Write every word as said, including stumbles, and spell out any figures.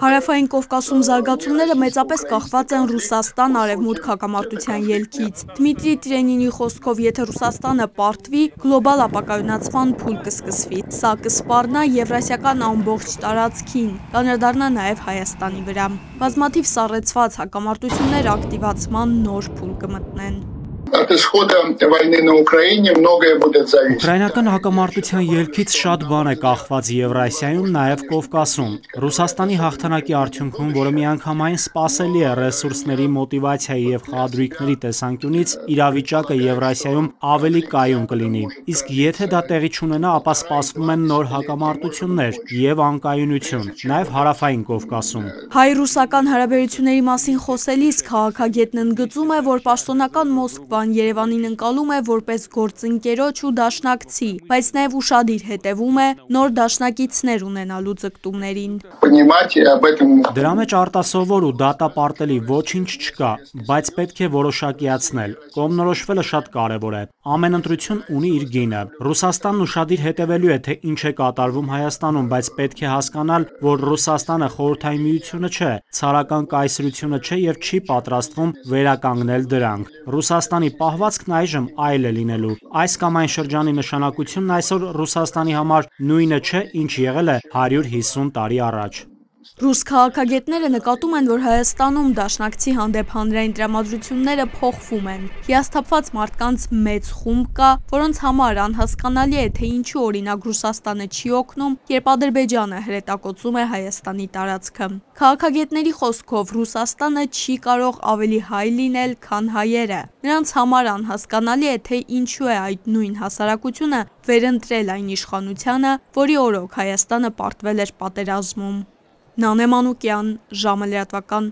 Հարավային Կովկասում զարգացումները մեծապես կախված են Ռուսաստան արևմուտք հակամարտության ելքից։ Դմիտրի Տրենինի խոսքով, եթե Ռուսաստանը պարտվի, գլոբալ ապակայունացման փուլ կսկսվի։ Սա կսպառնա Եվրասիական ամբողջ տարածքին, կանդրադառնա նաև Հայաստանի վրա։ Բազմաթիվ սառեցված հակամարտություններ ակտիվացման նոր փուլ կմտնեն։ Ուկրաինական հակամարտության ելքից շատ բան է կախված Եվրասիայում, նաև Կովկասում։ Ռուսաստանի հաղթանակի արդյունքում, որը միանգամայն սպասելի է ռեսուրսների, մոտիվացիայի և խաղադրույքների տեսանկյունից, իրավիճակը Եվրասիայում ավելի կայուն կլինի։ Իսկ եթե դա տեղի չունենա, ապա սպասվում են նոր հակամարտություններ և անկայունություն, նաև Հարավային Կովկասում։ Հայ-ռուսական հարաբերությունների մասին խոսելիս քաղաքագետն ընդգծում է, որ պաշտոնական Մոսկվան Երևանին ընկալում է որպես գործընկերոջ ու դաշնակցի, բայց նաև ուշադիր հետևում է նոր դաշնակիցներ ունենալու ձգտումներին։ Դրա մեջ արտասովոր ու դատապարտելի ոչինչ չկա, բայց պետք է որոշակիացնել։ Կողմնորոշվելը շատ կարևոր է։ Ամեն ընտրություն ունի իր գինը։ Ռուսաստանն ուշադիր հետևելու է, թե ինչ է կատարվում Հայաստանում, բայց պետք է հասկանալ, որ Ռուսաստանը Խորհրդային Միությունը չէ, ցարական կայսրությունը չէ և չի պատրաստվում վերականգնել դրանք։ Ռուսաստանի պահվածքն այժմ այլ է լինելու։ Այս կամ այն շրջանի նշանակությունն այսօր Ռուսաստանի համար նույնը չէ, ինչ եղել է հարյուր հիսուն տարի առաջ։ Ռուս քաղաքագետները նկատում են, որ Հայաստանում դաշնակցի հանդեպ հանրային տրամադրությունները փոխվում են։ Հիասթափված մարդկանց մեծ խումբ կա, որոնց համար անհասկանալի է, թե ինչու օրինակ Ռուսաստանը չի օգնում, երբ Ադրբեջանը հրետակոծում է Հայաստանի տարածքը։ Քաղաքագետների խոսքով Ռուսաստանը չի կարող ավելի հայ լինել, քան հայերը։ Նրանց համար անհասկանալի է, թե ինչու է այդ նույն հասարակությունը վերընտրել այն իշխանությանը, որի օրոք Հայաստանը պարտվել էր պատերազմում։ Նանե Մանուկյան, ժամը լրատվական։